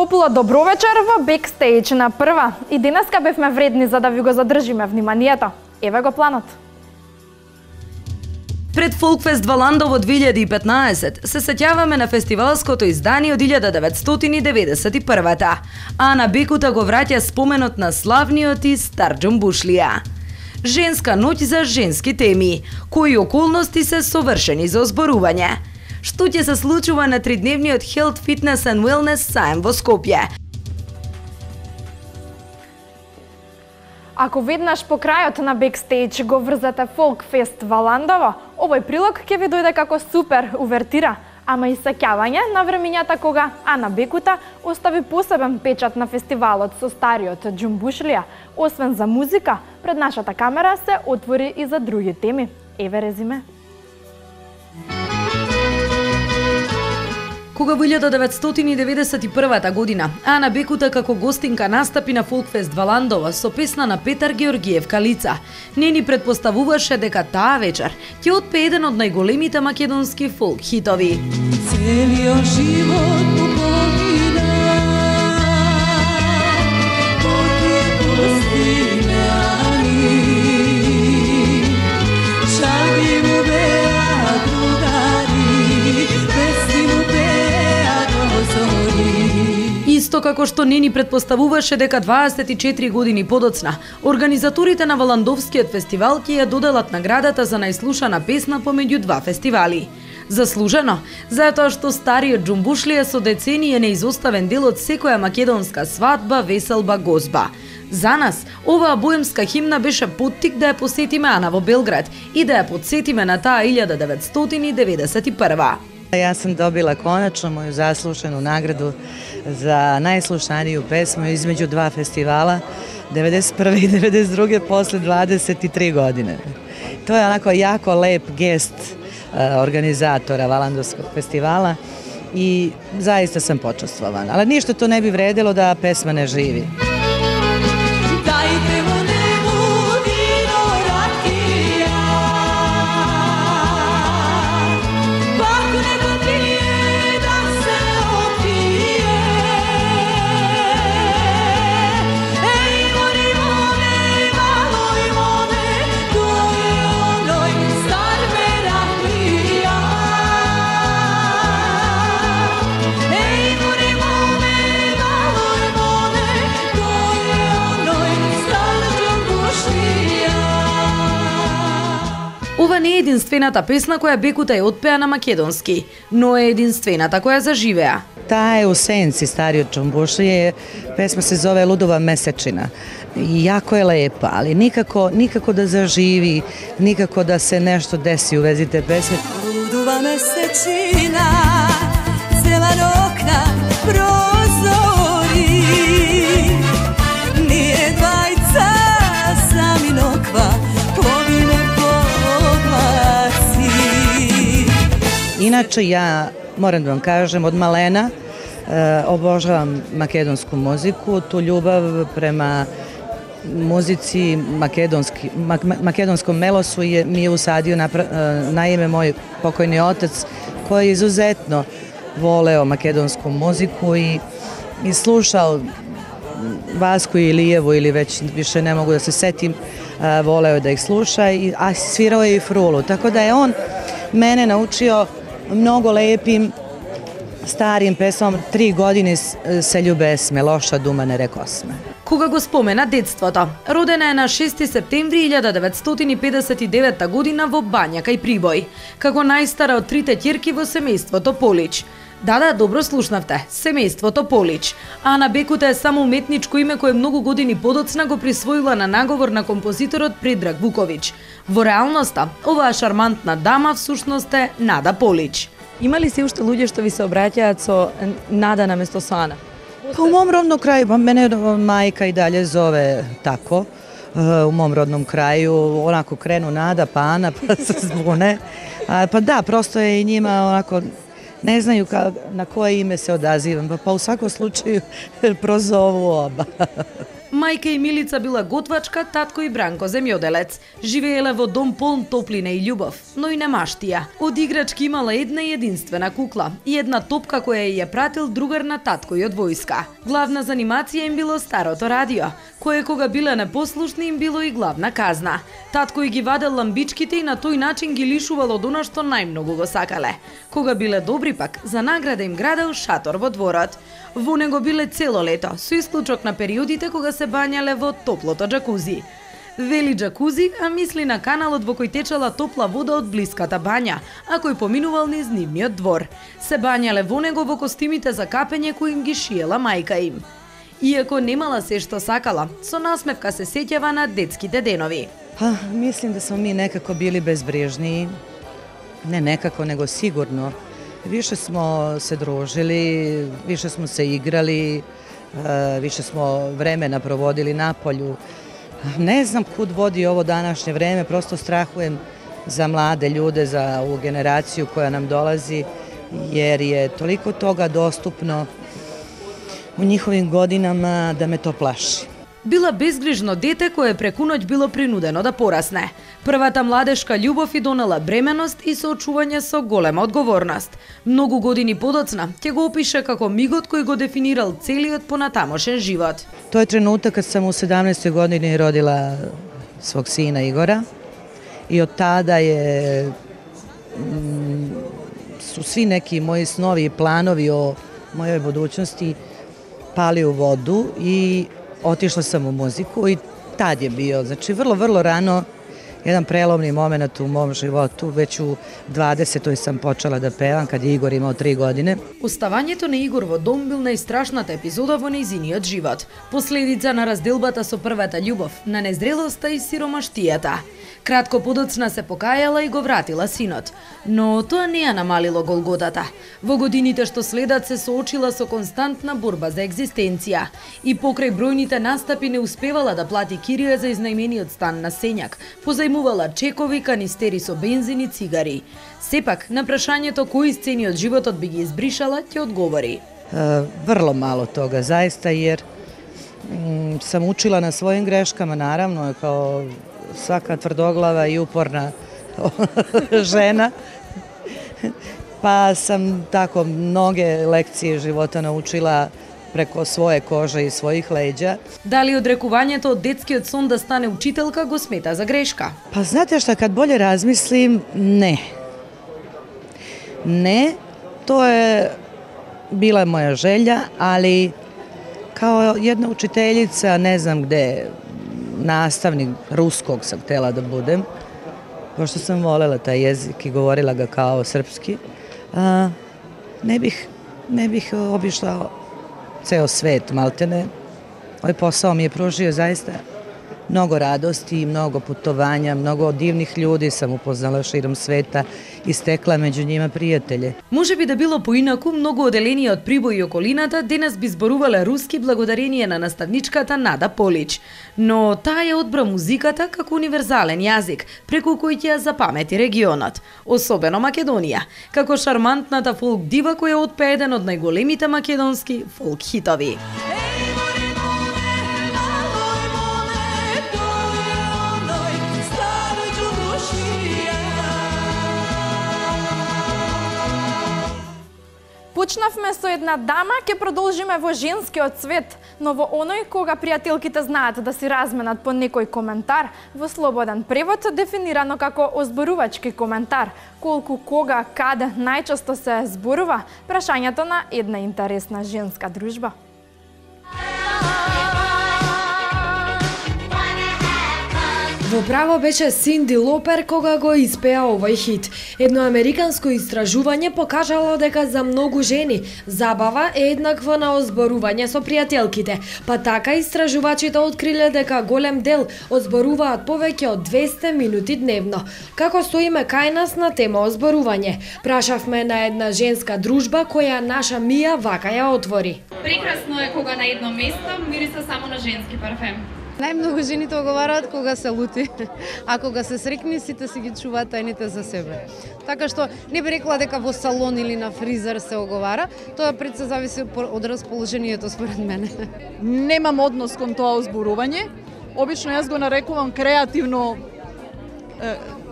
топло добро вечер во Бекстејдж на прва. И денеска бевме вредни за да ви го задржиме вниманието. Еве го планот. Пред Фолкфест Валандово 2015 се сеќаваме на фестивалското издание од 1991-та. Ана Бекута го враќа споменот на славниот и стар џумбушлија. Женска ноќ за женски теми, кои околности се совршени за озборување. Што ќе се случува на тридневниот Health, Fitness and Wellness саем во Скопје? Ако веднаш по крајот на Бекстејдж го врзате Фолкфест Валандово, овој прилог ќе ви дојде како супер увертира, ама и сеќавање на времињата кога Ана Бекута остави посебен печат на фестивалот со стариот џумбушлија. Освен за музика, пред нашата камера се отвори и за други теми. Еве резиме. Кога во 1991 година Ана Бекута како гостинка настапи на Фолкфест Валандово со песна на Петар Георгиев Калица, не ни предпоставуваше дека таа вечер ќе отпее еден од најголемите македонски фолк хитови. Целиот живот му погина, поти пустињани, шалги му беа другари, песни му беа до зори. Исто како што не ни предпоставуваше дека 24 години подоцна, организаторите на Валандовскиот фестивал ќе ја доделат наградата за најслушана песна помеѓу два фестивали. Заслужено, затоа што стариот џумбушлија со децении е неизоставен дел од секоја македонска свадба, веселба, гозба. За нас, оваа боемска химна беше поттик да ја посетиме Ана во Белград и да ја подсетиме на таа 1991. Јас сам добила конечно моју заслушану награду за најслушанију песму измеѓу два фестивала, 91. и 92. после 23 години. Тоа е онако јако леп гест организатора Валандовскog фестивала и заиста сам почествована. Ali ništa to ne bi vredilo da pesma ne živi. Dajte mu nebu vino rakija, pak neka pije da se opije. Ej, mori mone, maloj mone, to je onoj star merakija. Ej, mori mone, maloj mone, to je onoj star џумбушлија. Ова не е единствената песна која Бекута ја отпеа на македонски, но е единствената која заживеа. Таа е у сенци стариот џумбушлија, песма се зове Лудова месечина. И јако е лепа, ali никако да заживи, никако да се нешто деси у вези те песме. Ludova mesečina, zelan okna, prozori, nije dvajca sami nokva, povine povlaci. Inače, ja moram da vam kažem, od malena obožavam makedonsku muziku, tu ljubav prema muzici, makedonskom melosu mi je usadio naime moj pokojni otac koji je izuzetno voleo makedonsku muziku i slušao Vasku Ilijevu ili već više ne mogu da se setim, voleo da ih sluša, a svirao je i frulu, tako da je on mene naučio mnogo lepim starim pesmom 3 godine se ljubesme, loša дума не рекосме. Кога го спомена детството, родена е на 6 септември 1959 година во Бања кај Прибој, како најстара од трите ќерки во семејството Полич. Да, добро слушнавте, семејството Полич. Ана Бекута е само уметничко име кое многу години подоцна го присвоила на наговор на композиторот Предраг Вуковиќ. Во реалноста, оваа шармантна дама всушност е Нада Полич. Има ли се уште луѓе што ви се обраќаат со Нада наместо со Ана? Pa u mom rodnom kraju, mene majka i dalje zove tako, u mom rodnom kraju, onako krenu Nada, pa Ana, pa se zbune. Pa da, prosto je i njima onako, ne znaju na koje ime se odazivam, pa u svakom slučaju prozovu oba. Мајка и Милица била готвачка, татко и Бранко земјоделец. Живееле во дом полн топлина и љубов, но и немаштија. Од играчки имала една и единствена кукла и една топка која ја пратил другар на татко и од војска. Главна занимација им било старото радио, кое кога биле непослушни им било и главна казна. Татко и ги вадел ламбичките и на тој начин ги лишувал од она што најмногу го сакале. Кога биле добри пак, за награда им градел шатор во дворот. Во него биле цело лето, со исклучок на периодите кога се бањале во топлото джакузи. Вели джакузи, а мисли на каналот во кој течела топла вода од блиската бања, а кој поминувал низ нивниот двор. Се бањале во него во костимите за капење кои им ги шиела мајка им. Иако немала се што сакала, со насмевка се сеќава на детските денови. Мислим да смо ми некако били безбрежни, не некако, него сигурно. Više smo se družili, više smo se igrali, više smo vremena provodili na polju. Ne znam kud vodi ovo današnje vreme, prosto strahujem za mlade ljude, za ovu generaciju koja nam dolazi, jer je toliko toga dostupno u njihovim godinama da me to plaši. Била безгрижно дете кое преку ноќ било принудено да порасне. Првата младешка љубов и донела бременност и соочување со голема одговорност. Многу години подоцна ќе го опише како мигот кој го дефинирал целиот понатамошен живот. To je trenutak kad sam u 17. godini rodila svog sina Igora i od tada su svi neki moji snovi i planovi o mojoj budućnosti pali u vodu i otišla sam u muziku i tad je bio, znači vrlo rano, jedan prelomni moment u mom životu. Već u 20. sam počela da pevam kad je Igor imao 3 godine. Оставањето на Игор во дом бил најстрашната епизода во нејзиниот живот. Последица на разделбата со првата љубов, на незрелоста и сиромаштијата. Кратко подоцна се покајала и го вратила синот. Но тоа не ја намалило голготата. Во годините што следат се соочила со константна борба за екзистенција. И покрај бројните настапи не успевала да плати кирија за изнајмениот стан на Сењак. Позајмувала чекови, канистери со бензин и цигари. Сепак, на прашањето кои сцени од животот би ги избришала, ќе одговори. Vrlo malo toga, zaista, jer sam učila na svojim greškama, naravno, kao svaka tvrdoglava i uporna žena, pa sam tako mnoge lekcije života naučila преко своје кожа и својих леѓа. Дали одрекувањето од детскиот сон да стане учителка го смета за грешка? Па знате што, kad bolje razmislim, ne. Ne, to je bila moja želja, ali kao jedna učiteljica, ne znam gde, nastavnik ruskog sam htela da budem, pošto sam volela taj jezik i govorila ga kao srpski, ne bih obišla ceo svet, maltene. Ovaj posao mi je pružio zaista mnogo radosti, mnogo putovanja, mnogo divnih ljudi sam upoznala širom sveta и стекла меѓу њима пријателје. Може би да било поинаку, многу оделени од Прибој и околината денес би зборувале руски благодарение на наставничката Нада Полич. Но таа ја одбра музиката како универзален јазик, преку кој ќе ја запамети регионот, особено Македонија, како шармантната фолк дива која отпее еден од најголемите македонски фолк хитови. Почнавме со една дама, ќе продолжиме во женскиот свет, но во оној кога пријателките знаат да си разменат по некој коментар, во слободен превод дефинирано како озборувачки коментар, колку, кога, каде најчесто се зборува, прашањето на една интересна женска дружба. Во право беше Синди Лопер кога го испеа овој хит. Едно американско истражување покажало дека за многу жени забава е еднаква на озборување со пријателките, па така истражувачите откриле дека голем дел озборуваат повеќе од 200 минути дневно. Како стоиме кај нас на тема озборување? Прашавме на една женска дружба која наша Мија вака ја отвори. Прекрасно е кога на едно место мириса само на женски парфем. Најмногу жените оговараат кога се лути, а кога се срекни сите си ги чуваат тајните за себе. Така што не би рекла дека во салон или на фризер се оговара, тоа пред се зависи од расположението според мене. Немам однос кон тоа озборување. Обично јас го нарекувам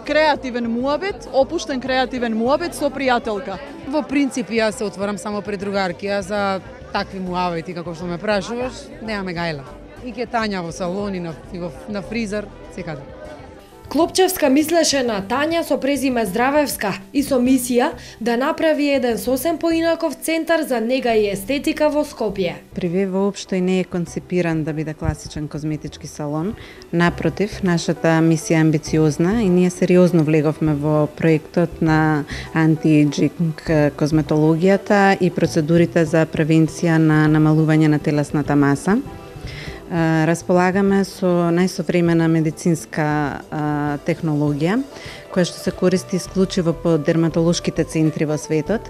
креативен муабет, опуштен креативен муабет со пријателка. Во принцип јас се отворам само пред другарки, а за такви муабети како што ме прашуваш, немаме гајла. И ке Тања во салон и на фризер, секаде. Клопчевска мислеше на Тања со презиме Здравевска и со мисија да направи еден сосем поинаков центар за нега и естетика во Скопје. Приве воопшто и не е концепиран да биде класичен козметички салон. Напротив, нашата мисија е амбициозна и ние сериозно влеговме во проектот на антиејджинг козметологијата и процедурите за превенција на намалување на телесната маса. Располагаме со најсовремена медицинска технологија, која што се користи исклучиво по дерматолошките центри во светот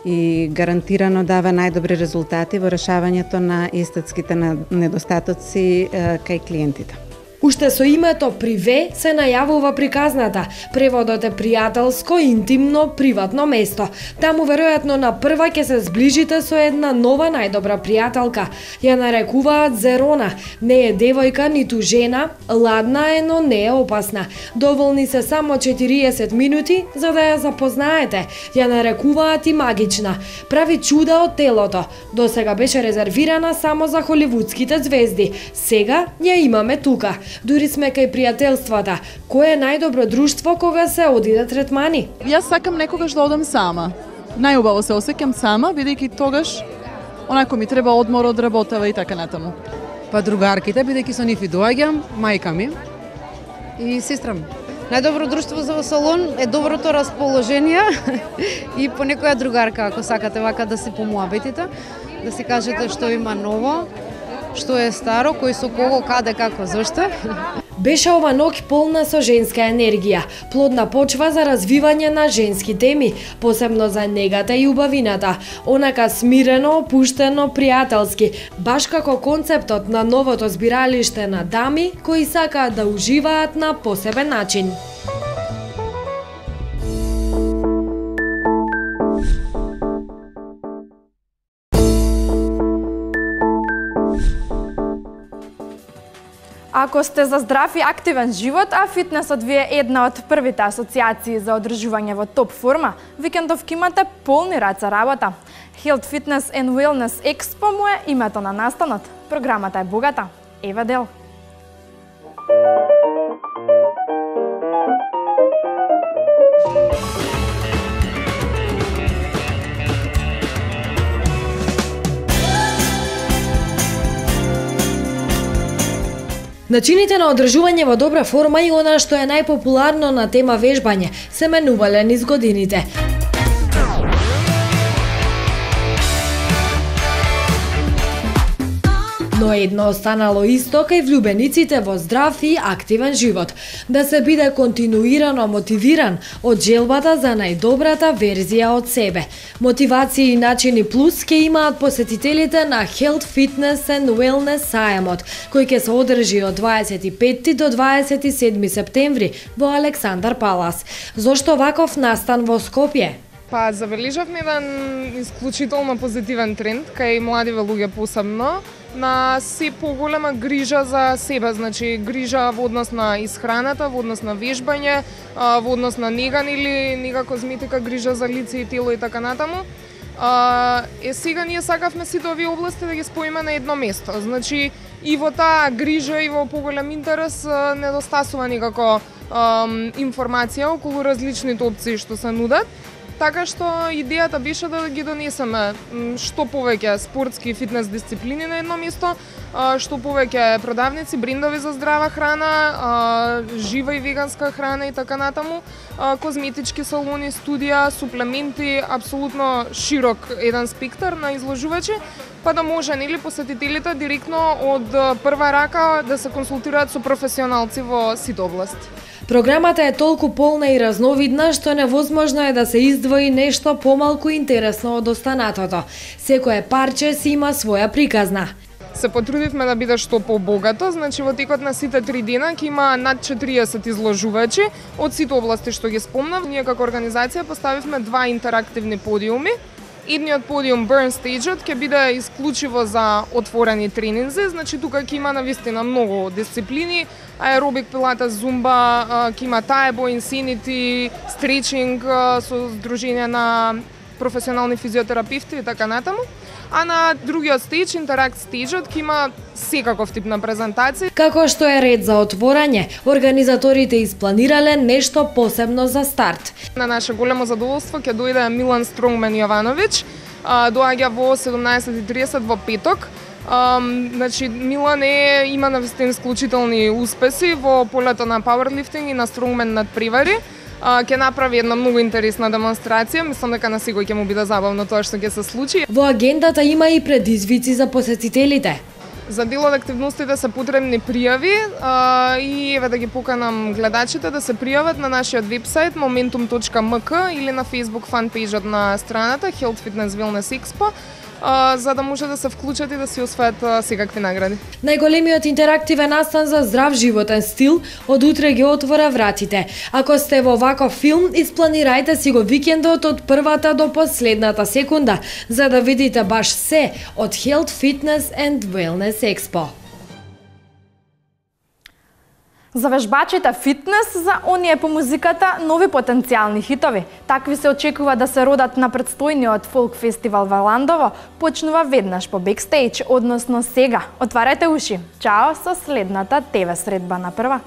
и гарантирано дава најдобри резултати во решавањето на естетските недостатоци кај клиентите. Уште со името Приве се најавува приказната. Преводот е пријателско, интимно, приватно место. Таму веројатно на прва ќе се зближите со една нова најдобра пријателка. Ја нарекуваат Зерона. Не е девојка ниту жена, ладна е, но не е опасна. Доволни се само 40 минути за да ја запознаете. Ја нарекуваат и магична. Прави чуда од телото. Досега беше резервирана само за холивудските звезди. Сега ја имаме тука. Дури сме кај пријателствата. Кој е најдобро друштво кога се одиде третмани? Јас сакам некогаш да одам сама. Најубаво се осеќам сама, бидејќи тогаш онако ми треба одмор од работава и така натаму. Па другарките, бидејќи со нив и доаѓам, мајка ми и сестра ми. Најдобро друштво за салон е доброто расположение и по некоја другарка, ако сакате вака да се помуабетите, да си кажете што има ново, што е старо, кој со кого, каде, како, зашто. Беше ова ноќ полна со женска енергија, плодна почва за развивање на женски теми, посебно за негата и убавината, онака смирено, опуштено, пријателски, баш како концептот на новото збиралиште на дами кои сакаат да уживаат на посебен начин. Ако сте за здрав и активен живот, а фитнесот ви е една од првите асоциации за одржување во топ форма, викендов ќе имате полни раце работа. Health Fitness and Wellness Expo му е името на настанот. Програмата е богата. Ева дел. Начините на одржување во добра форма и она што е најпопуларно на тема вежбање се менувале низ годините. Но едно останало исто кај влюбениците во здрав и активен живот. Да се биде континуирано мотивиран од желбата за најдобрата верзија од себе. Мотивации и начини плюс ќе имаат посетителите на Health Fitness and Wellness сајамот, кој ќе се одржи од 25 до 27 септември во Александар Палас. Зошто ваков настан во Скопје? Па забележавме еден исклучително позитивен тренд кај младиве луѓе посебно на се поголема грижа за себе, значи грижа во однос на исхраната, во однос на вежбање, во однос на неган или нега козметика, грижа за лице и тело и така натаму. Сега ние сакавме сите овие области да ги споиме на едно место. Значи и во таа грижа и во поголем интерес недостасува никако информација околу различните опции што се нудат. Така што идејата беше да ги донесеме што повеќе спортски и фитнес дисциплини на едно место, што повеќе продавници, брендови за здрава храна, жива и веганска храна и така натаму, козметички салони, студија, суплементи, апсолутно широк еден спектар на изложувачи, па да може нели посетителите директно од прва рака да се консултираат со професионалци во сите области. Програмата е толку полна и разновидна што невозможно е да се издвои нешто помалку интересно од останатото. Секое парче си има своја приказна. се потрудивме да биде што побогато, значи во текот на сите 3 дена ќе има над 40 изложувачи од сите области што ги спомнав. Ние како организација поставивме 2 интерактивни подиуми. Едниот подиум Burn Stage-от ќе биде исклучиво за отворени тренинзи, значи тука ќе има навистина многу дисциплини, аеробик, пилатес, зумба, ќе има таебо, инсинити, стречинг со здружение на професионални физиотерапевти и така натаму. А на другиот стејдж, Interact Stage-от, ќе има секаков тип на презентации. Како што е ред за отворање, организаторите испланирале нешто посебно за старт. На наше големо задоволство ќе дојде Милан Стронгмен Јовановиќ, доаѓа во 17:30 во петок. Значи Милан има навистина исклучителни успеси во полето на пауерлифтинг и на стронгмен надпревари. Ќе направи една многу интересна демонстрација, мислам дека на секој ќе му биде забавно тоа што ќе се случи. Во агендата има и предизвици за посетителите. За дел од активностите се потребни пријави и еве да ги поканам гледачите да се пријават на нашиот вебсайт momentum.mk или на Facebook фанпејџот на страната Health Fitness Wellness Expo, за да може да се вклучат и да си освојат секакви награди. Најголемиот интерактивен настан за здрав животен стил од утре ги отвора вратите. Ако сте во ваков филм, испланирајте си го викендот од првата до последната секунда, за да видите баш се од Health Fitness and Wellness Expo. За вежбачите фитнес, за оние по музиката, нови потенцијални хитови. Такви се очекува да се родат на предстојниот фолк фестивал во Ландово, почнува веднаш по бекстејдж, односно сега. Отварајте уши. Чао со следната ТВ средба на прва.